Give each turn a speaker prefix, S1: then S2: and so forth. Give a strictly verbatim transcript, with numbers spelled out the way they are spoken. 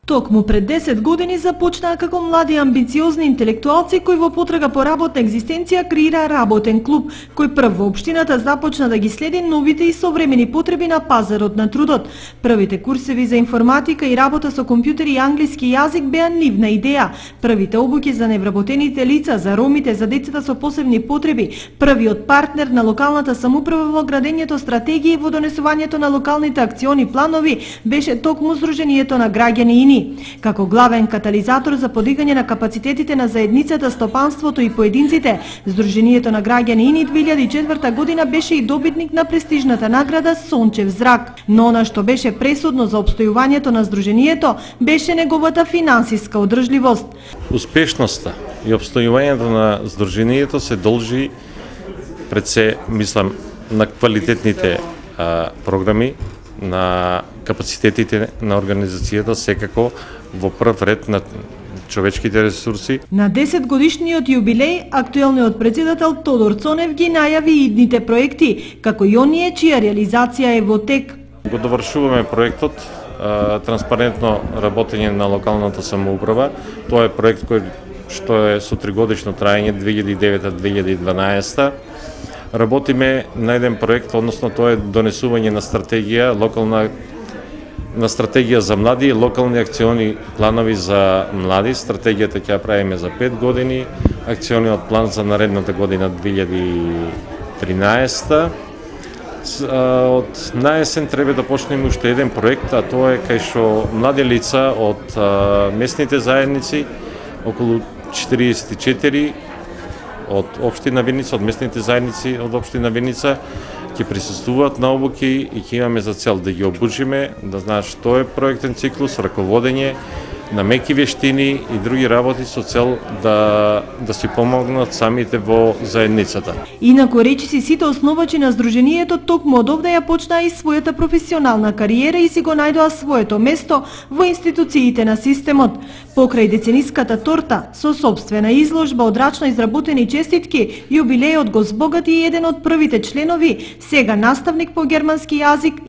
S1: Токму пред десет години започнаа како млади амбициозни интелектуалци кои во потрага по работна екзистенција креираа работен клуб, кој прв во општината започна да ги следи новите и современи потреби на пазарот на трудот. Првите курсеви за информатика и работа со компјутери и англиски јазик беа нивна идеја. Првите обуки за невработените лица, за ромите, за децата со посебни потреби, првиот партнер на локалната самоуправа во градењето стратегии и во донесувањето на локалните акциони планови беше токму Сдруженијето на граѓани. Како главен катализатор за подигање на капацитетите на заедницата, стопанството и поединците, Сдруженијето на граѓани ини две илјади и четврта година беше и добитник на престижната награда Сончев зрак. Но она што беше пресудно за опстојувањето на Сдруженијето беше неговата финансиска одржливост.
S2: Успешноста и опстојувањето на Сдруженијето се должи пред се, мислам, на квалитетните а, програми, на капацитетите на организацијата, секако во прв ред на човечките ресурси.
S1: На десет годишниот јубилеј, актуелниот председател Тодор Цонев ги најави идните проекти, како и оние чија реализација е во тек.
S2: Го довршуваме проектот транспарентно работење на локалната самоуправа. Тоа е проект кој што е со тригодишно траење две илјади и девета до две илјади и дванаесета. Работиме на еден проект, односно тоа е донесување на стратегија, локална на стратегија за млади, локални акциони планови за млади. Стратегијата ќе ја правиме за пет години, акциониот план за наредната година две илјади и тринаесета. Од наесен треба да почнеме уште еден проект, а тоа е кај што млади лица од местните заедници, околу четириесет и четири од општина Виница, од местните заедници од општина Виница, ќе присуствуваат на обуки и ќе имаме за цел да ги обучиме, да знаат што е проектен циклус, раководење на меки вештини и други работи со цел да да си помогнат самите во заедницата.
S1: Инаку речиси сите основачи на Сдруженијето токму од овде ја почнаа и својата професионална кариера и си го најдоа своето место во институциите на системот. Покрај децениската торта со сопствена изложба од рачно изработени честитки, јубилејот го збогати и еден од првите членови, сега наставник по германски јазик